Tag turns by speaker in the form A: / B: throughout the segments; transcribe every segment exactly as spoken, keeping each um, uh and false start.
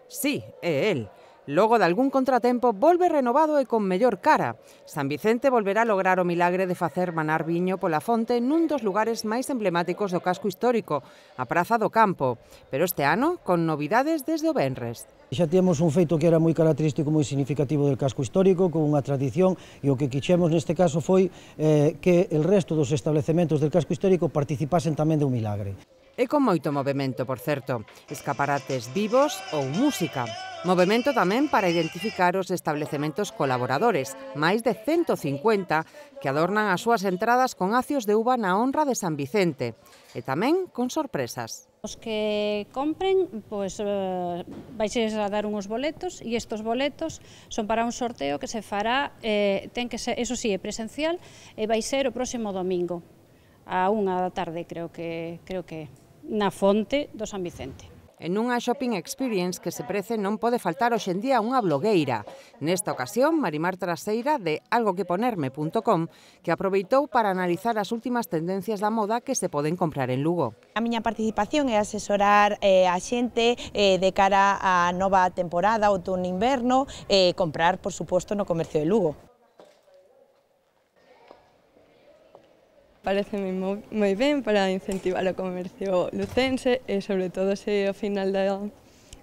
A: Sí, é el. Logo de algún contratempo, volve renovado e con mellor cara. San Vicente volverá a lograr o milagre de facer manar viño pola fonte nun dos lugares máis emblemáticos do casco histórico, a Praza do Campo, pero este ano con novidades desde o venres.
B: Xa temos un feito que era moi característico, moi significativo del casco histórico, con unha tradición, e o que quixemos neste caso foi eh, que el resto dos establecementos del casco histórico participasen tamén do milagre.
A: E con moito movimento, por certo, escaparates vivos ou música. Movimento tamén para identificar os establecementos colaboradores, máis de cento cincuenta, que adornan as súas entradas con acios de uva na honra de San Vicente, e tamén con sorpresas.
C: Os que compren, pois, eh, vais a dar uns boletos, e estes boletos son para un sorteo que se fará, eh, ten que ser, eso sí, é presencial, e vai ser o próximo domingo, a unha da tarde, creo que, creo que na fonte do San Vicente.
A: En unha shopping experience que se prece non pode faltar hoxe en día unha blogueira. Nesta ocasión, Marimar Traseira, de algo que ponerme punto com, que aproveitou para analizar as últimas tendencias da moda que se poden comprar en Lugo.
D: A miña participación é asesorar eh, a xente eh, de cara á nova temporada, outono-inverno, e eh, comprar, por suposto, no comercio de Lugo.
E: Pareceme moi ben para incentivar o comercio lucense e, sobre todo, se ao final da,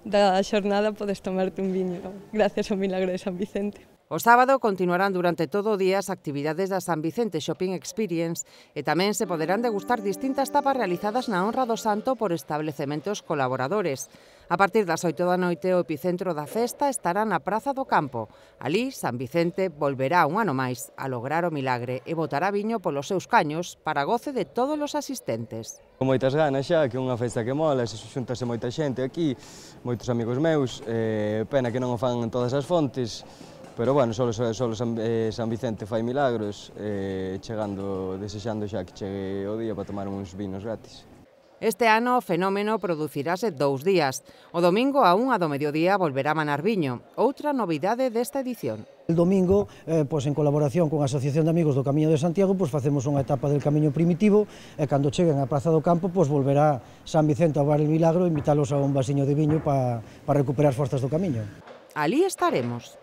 E: da xornada podes tomarte un viño gracias ao milagre de San Vicente.
A: O sábado continuarán durante todo o día as actividades da San Vicente Shopping Experience e tamén se poderán degustar distintas tapas realizadas na honra do santo por establecementos colaboradores. A partir das oito da noite, o epicentro da festa estará na Praza do Campo. Alí, San Vicente volverá un ano máis a lograr o milagre e botará viño polos seus caños para goce de todos os asistentes.
F: Con moitas ganas xa, que é unha festa que mola, se xuntase moita xente aquí, moitos amigos meus, eh, pena que non o fan en todas as fontes, pero bueno, solo, solo San, eh, San Vicente fai milagros, eh, chegando, desexando xa que chegue o día para tomar uns vinos gratis.
A: Este ano o fenómeno producirase dous días. O domingo a unha do mediodía volverá a manar viño, outra novidade desta edición.
B: El domingo, eh, pois, en colaboración con a Asociación de Amigos do Camiño de Santiago, pois, facemos unha etapa del Camiño Primitivo e cando cheguen á Praza do Campo, pois, volverá San Vicente a bar el milagro e invitálos a un vasiño de viño para pa recuperar forzas do camiño.
A: Alí estaremos.